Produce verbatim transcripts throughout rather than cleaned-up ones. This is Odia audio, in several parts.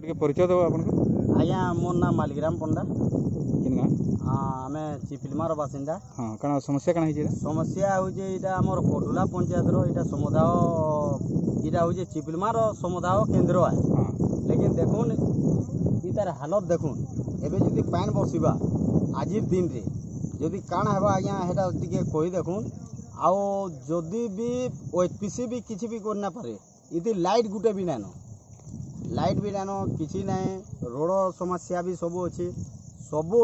ଟିକେ ପରିଚୟ ଦେବ ଆପଣଙ୍କୁ। ଆଜ୍ଞା, ମୋର୍ ନାଁ ମାଲିଗ୍ରାମ ପଣ୍ଡା। କେନ୍ ଗାଁ? ଆମେ ଚିପିଲିମାର ବାସିନ୍ଦା। ହଁ, କାଣା ସମସ୍ୟା କାଣା ହେଇଛି ଏଇଟା? ସମସ୍ୟା ହେଉଛି ଏଇଟା ଆମର କଟୁଲା ପଞ୍ଚାୟତର ଏଇଟା ସମୁଦାୟ, ଏଇଟା ହେଉଛି ଚିପିଲିମାର ସମୁଦାୟ କେନ୍ଦ୍ର। ହଁ ଲେକିନ୍ ଦେଖୁନ୍, ଇ ତାର ହାଲତ ଦେଖୁନ୍। ଏବେ ଯଦି ପାଏନ୍ ବର୍ଷିବା ଆଜିର ଦିନରେ ଯଦି କାଣା ହେବା ଆଜ୍ଞା, ହେଟା ଟିକେ କହି ଦେଖୁନ୍। ଆଉ ଯଦି ବି ଓ ଏଚ୍ ପି ସି ବି କିଛି ବି କରି ନା ପାରେ, ଇଥି ଲାଇଟ୍ ଗୁଟେ ବି ନାଇଁନ, ଲାଇଟ୍ ବି ନାଇଁନ, କିଛି ନାଇଁ। ରୋଡ଼ ସମସ୍ୟା ବି ସବୁ ଅଛି, ସବୁ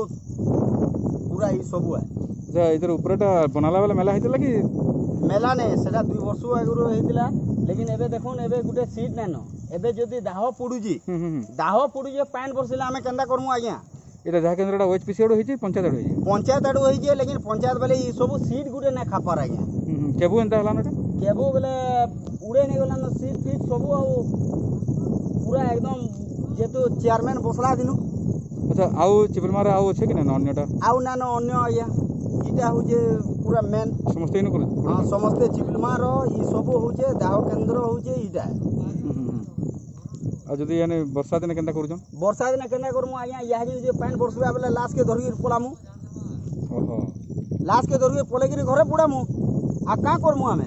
ପୁରା ଇ ସବୁ ଆଏ। ଆଚ୍ଛା, ଏଇଥିର ଉପରଟା ବନାଲା ବେଲେ ମେଲା ହେଇଥିଲା କି? ମେଲା ନାଇଁ, ସେଟା ଦୁଇ ବର୍ଷ ଆଗରୁ ହେଇଥିଲା। ଲେକିନ୍ ଏବେ ଦେଖୁନ୍, ଏବେ ଗୁଟେ ସିଟ୍ ନାଇଁନ। ଏବେ ଯଦି ଦାହ ପଡୁଛି, ହୁଁ ହୁଁ ହୁଁ ଦାହ ପଡୁଛେ, ପାଏନ୍ ବର୍ଷିଲେ ଆମେ କେନ୍ତା କରମୁ ଆଜ୍ଞା? ଏଇଟା ଯାହା କେନ୍ଦ୍ରଟା ଓ ଏଚ୍ ପି ସି ଆଡ଼ୁ ହେଇଛି, ପଞ୍ଚାୟତ ଆଡ଼ୁ ହେଇଛି? ପଞ୍ଚାୟତ ଆଡୁ ହେଇଛେ, ଲେକିନ୍ ପଞ୍ଚାୟତ ବେଲେ ଇ ସବୁ ସିଟ୍ ଗୁଟେ ନାଇଁ ଖାପାର ଆଜ୍ଞା। ହୁଁ ହୁଁ କେବୁ ଏନ୍ତା ହେଲାନ ଏଟା? କେବୁ ବେଲେ ଉଡ଼େଇ ନେଇଗଲାନ ସିଟ୍ ଫିଟ୍ ସବୁ, ଆଉ ପୁରା ଏକଦମ ଯେହେତୁ ଚେୟାରମ୍ୟାନ୍ ବସଲା ଦିନୁ। ଆଚ୍ଛା, ଆଉ ଚିପିଲିମାରେ ଆଉ ଅଛେ କି ନାଇଁ ଅନ୍ୟଟା? ଆଉ ନାଇନ ଅନ୍ୟ ଆଜ୍ଞା, ଇଟା ହଉଛେ ପୁରା ମେନ୍। ସମସ୍ତେ ଇନୁ କରୁଛ? ହଁ, ସମସ୍ତେ ଚିପିଲିମାର ଇ ସବୁ ହଉଛେ, ଦାହ କେନ୍ଦ୍ର ହଉଛେ ଇଟା। ହୁଁ ହୁଁ ହୁଁ ଆଉ ଯଦି ମାନେ ବର୍ଷା ଦିନେ କେନ୍ତା କରୁଛନ୍? ବର୍ଷା ଦିନେ କେନ୍ତା କରମୁ ଆଜ୍ଞା? ଇହାଦେ ଯଦି ପାଏନ୍ ବର୍ଷିବା ବେଲେ ଲାସ୍କେ ଧରିକିରି ପଲାମୁ। ଓହୋ ଲାସ୍କେ ଧରିକି ପଲେଇକିରି ଘରେ ପୁଡ଼ାମୁ, ଆଉ କାଁ କରମୁ ଆମେ?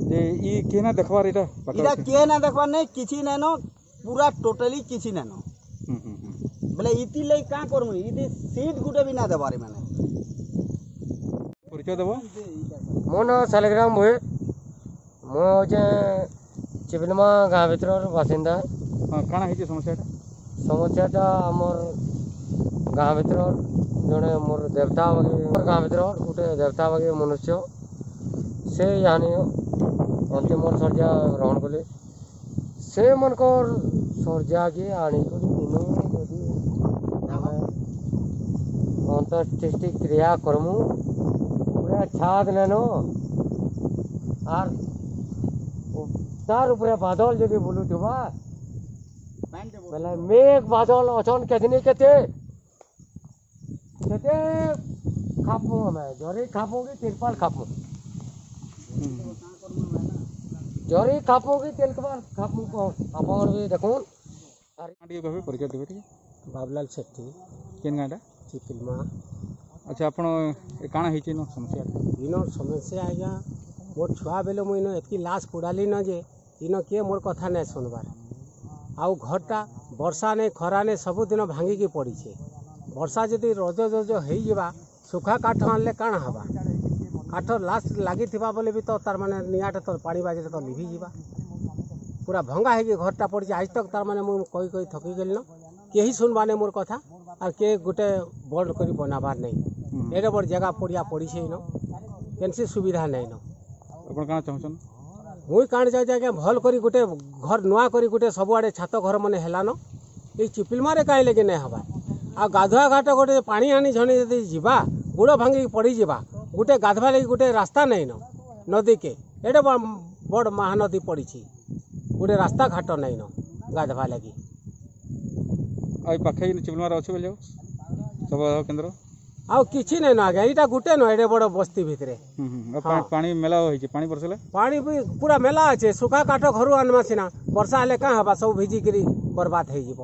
ଯେ ଇ କିଏ ନା ଦେଖବାର ଏଇଟା? ଇଟା କିଏ ନା ଦେଖବାର୍ ନାଇଁ, କିଛି ନାଇଁନ, ପୁରା ଟୋଟାଲି କିଛି ନାଇଁନ। ହୁଁ ହୁଁ ହୁଁ ବେଲେ ଇତି ଲାଗି କାଁ କରମୁ? ଇତି ସିଟ୍ ଗୁଟେ ବି ନା ଦେବାର୍ ମାନେ। ପରିଚୟ ଦେବ। ମୋ ନାଁ ଶାଲିଗ୍ରାମ ଭୁଏ। ମୁଁ ହେଉଛେ ଚିପିଲିମା ଗାଁ ଭିତରର ବାସିନ୍ଦା। ହଁ, କାଣା ହେଇଛି ସମସ୍ୟାଟା? ସମସ୍ୟାଟା ଆମର୍ ଗାଁ ଭିତର ଜଣେ ମୋର୍ ଦେବତା ବାଗି, ଗାଁ ଭିତର ଗୋଟେ ଦେବତା ବାଗି ମନୁଷ୍ୟ, ସେ ଇହାନି ଅନ୍ତିମ ଶଯ୍ୟା ଗ୍ରହଣ କଲେ। ସେମାନଙ୍କର ଶଯ୍ୟାକେ ଆଣିକରି ଇନୁ ଯଦି ଆମେ ଅନ୍ତ୍ୟେଷ୍ଟି କ୍ରିୟା କରମୁ, ପୁରା ଛାତ ନେନ ଆର୍ ତାର ଉପରେ ବାଦଲ ଯଦି ବୁଲୁଥିବା ବେଲେ, ମେଘ ବାଦଲ ଅଛନ୍ କେତନି କେତେ କେତେ ଖାପୁ ଆମେ, ଜରି ଖାପୁ କି ତିରପାଲ ଖାପୁ, ଜରି ଖାପୁ କି ତିରପାଲ ଖାପୁ, କହ ଆପଣ ବି ଦେଖୁନ୍। ଟିକେ କହିବେ, ପରିଚୟ ଦେବେ ଟିକେ। ବାବୁଲାଲ ସେଠୀ। କେନ୍ ଗାଁଟା? ଚିପିଲମା। ଆଚ୍ଛା, ଆପଣ ଏ କାଣା ହେଇଛି ଇନ ସମସ୍ୟାଟା? ଇନ ସମସ୍ୟା ଆଜ୍ଞା, ମୋର୍ ଛୁଆ ବେଲେ ମୁଇଁ ଇନ ଏତ୍କି ଲାସ୍ ପୋଡ଼ାଲି ନ ଯେ ଇନ କିଏ ମୋର୍ କଥା ନାଇଁ ଶୁଣବାର୍। ଆଉ ଘରଟା ବର୍ଷା ନାଇଁ ଖରା ନାଇଁ ସବୁଦିନ ଭାଙ୍ଗିକି ପଡ଼ିছে। ବର୍ଷା ଯଦି ରଜ ରଜ ହେଇଯିବା, ଶୁଖା କାଠ ଆଣିଲେ କାଣା ହେବା? କାଠ ଲାଷ୍ଟ ଲାଗିଥିବା ବୋଲେ ବି ତ ତାର୍ ମାନେ ନିଆଁଟା ତ ପାଣି ବାଜିଲେ ତ ଲିଭିଯିବା। ପୁରା ଭଙ୍ଗା ହେଇକି ଘରଟା ପଡ଼ିছে। ଆଜ୍ ତକ୍ ତାର୍ ମାନେ ମୁଇଁ କହି କହି ଥକି ଗଲିନ, କେହି ଶୁଣବାର୍ ନାଇଁ ମୋର୍ କଥା, ଆର୍ କିଏ ଗୋଟେ ବଡ଼ କରି ବନାବାର୍ ନାଇଁ। ଏଡ଼େ ବଡ଼ ଜାଗା ପଡ଼ିଆ ପଡ଼ିছে, ଇନ କେନ୍ସି ସୁବିଧା ନାଇଁନ। ଆପଣ କାଣା ଚାହୁଁଛନ୍? ମୁଇଁ କାଣା ଚାହୁଁଛି ଆଜ୍ଞା, ଭଲ୍ କରି ଗୋଟେ ଘର ନୂଆ କରି ଗୋଟେ ସବୁଆଡ଼େ ଛାତ ଘର ମାନେ ହେଲାନ, ଏଇ ଚିପିଲମାରେ କାହିଁ ଲାଗି ନାଇଁ ହେବାର୍? ଆଉ ଗାଧୁଆ ଘାଟ ଗୋଟେ ପାଣି ଆଣି ଝଣି ଯଦି ଯିବା, ଗୋଡ଼ ଭାଙ୍ଗିକି ପଡ଼ିଯିବା। ଗୋଟେ ଗାଧବା ଲାଗି ଗୋଟେ ରାସ୍ତା ନାଇଁନ ନଦୀକେ। ଏଡ଼େ ବଡ଼ ମହାନଦୀ ପଡ଼ିଛି, ଗୋଟେ ରାସ୍ତା ଘାଟ ନାଇଁନ ଗାଧବା ଲାଗି। ଆଉ ଏଇ ପାଖେ ଚିପିଲିମାରେ ଅଛି ବୋଲି ଆଉ ଶବ କେନ୍ଦ୍ର? ଆଉ କିଛି ନାଇଁନ ଆଜ୍ଞା, ଏଇଟା ଗୋଟେ ନ ଏଡ଼େ ବଡ଼ ବସ୍ତି ଭିତରେ। ହୁଁ ହୁଁ ଆଉ ପାଣି ପାଣି ମେଲା ହେଇଛି, ପାଣି ବର୍ଷିଲେ? ପାଣି ବି ପୁରା ମେଲା ଅଛେ। ଶୁଖା କାଠ ଘରୁ ଆନମା ସିନା, ବର୍ଷା ହେଲେ କାଁ ହେବା? ସବୁ ଭିଜିକିରି ବର୍ବାଦ ହେଇଯିବ।